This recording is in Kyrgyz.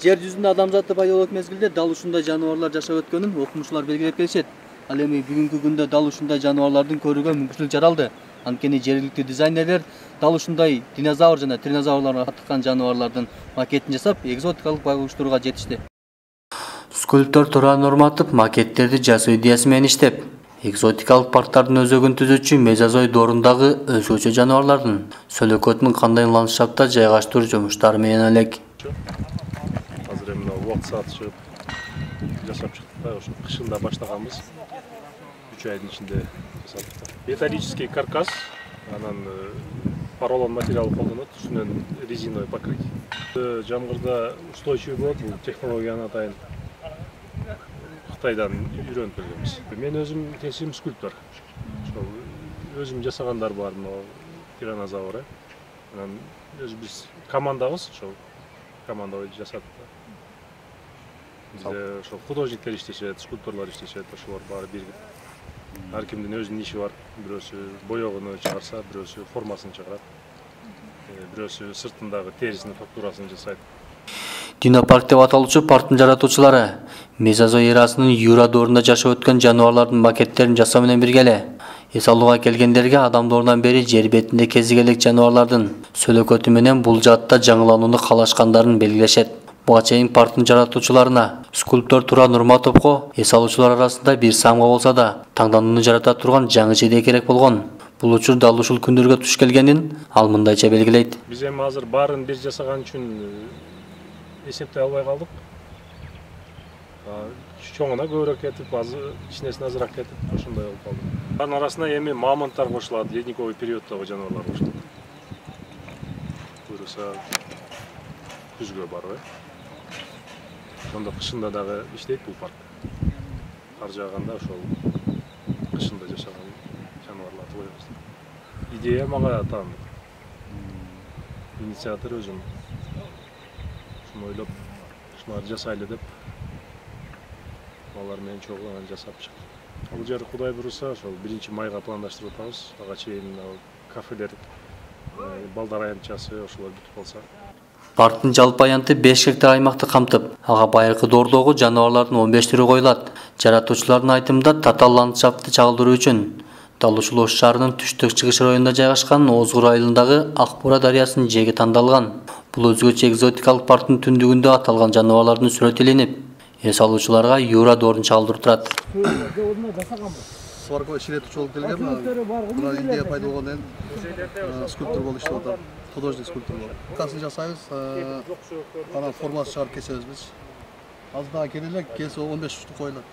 Жер жүзүндө адамзатты пайда болот мезгилде дал ушундай жаныбарлар жашап өткөнүн окумуштуулар белгилеп келишет. Ал эми бүгүнкү күндө дал ушундай жаныбарлардын көрүүгө мүмкүнчүлүк жаралды. Анткени жергиликтүү дизайнерлер дал ушундай динозавр жана тринозаврларга каттыккан жаныбарлардын макетин жасап, экзотикалык байкуштурга жетишти. Скульптор Туран Нурматов макеттерди жасоо идеясы менен иштеп, экзотикалык парктардын өзөгүн түзүүчү мезозой доорундагы өзгөчө жаныбарлардын сөлөкөтүн кандай ландшафтта жайгаштыруу жумуштары менен элек. Азыр эми убакыт саат чыгып жасап чыктык да, ошо кышында баштаганбыз. 3 айдын ичинде жасадык. Металлический каркас, анан поролон материал колдонот, үстүнөн резиновый покрытие. Жамгырда устойчивый болот, бул технологияны атайын Кытайдан үйрөнүп келгенбиз. Мен өзүм кесим скульптор. Ошо өзүм жасагандар бар, тиранозавр. Анан өзүбүз командабыз, ошо команда жасадык. Бизде ошо художниктер иштешет, скульпторлор иштешет, ошолор баары биригип. Ар кимдин өзүнүн иши бар. Бирөөсү боёгуну чыгарса, бирөөсү формасын чыгарат. Бирөөсү сыртындагы терисинин фактурасын жасайт. Динопарк деп аталуучу парктын жаратуучулары мезозой эрасынын Юра доорунда жашап өткөн жаныбарлардын макеттерин жасоо менен бирге эле эс алууга келгендерге адам доорунан бери жер бетинде кезиге элек жаныбарлардын сөлөкөтү менен бул жаатта жаңыланууну каалашкандарын белгилешет. Буга чейин парктын жаратуучуларына скульптор Туран Нурматовго эс алуучулар арасында бир самга болсо да таңданууну жарата турган жаңы жеде керек болгон. Бул учур дал ушул күндөргө туш келгенин ал мындайча белгилейт. Биз эми азыр баарын бир жасаган үчүн эсептей албай калдык. Чоңуна көбүрөөк кетип, кичинесине азыраак кетип, ошондой болуп калды. Анын арасына эми мамонттар кошулат, ледниковый периоддогу жаныбарлар кошулат. Буюрса күзгө барбы. Ошондо кышында дагы иштейт бул парк. Кар жааганда ошол кышында жашаган жаныбарларды коебуз. Идея мага таандык. Инициатор өзүм. Шуну ойлоп, ушуларды жасайлы деп алар менен чогуу жасап чыктык. Бул жер Кудай буйруса, ошол 1-майга пландаштырып атабыз. Ага чейин кафелер, балдар аянтчасы ошолор бүтүп калса. Парктын жалпы аянты 5 гектар аймакты камтып, ага байыркы доордогу жаныбарлардын 15 түрү коюлат. Жаратуучулардын айтымында татаал ландшафтты чагылдыруу үчүн дал ушул Ош шаарынын түштүк-чыгыш районунда жайгашкан Озгур айылындагы Акбура дарыясынын жээги тандалган. Бул өзгөчө экзотикалык парктын түндүгүндө аталган жаныбарлардын сүрөтү илинип, эс алуучуларга Юра доорун чагылдырып турат. Сваркова Ширетович болуп келген, мына идея пайда болгондон кийин скульптор болуп иштеп атам. Художник скульптор болуп. Касын жасайбыз, анан формасын чыгарып кесебиз биз. Азыр дагы келе элек, келсе 15 уштук коюлат.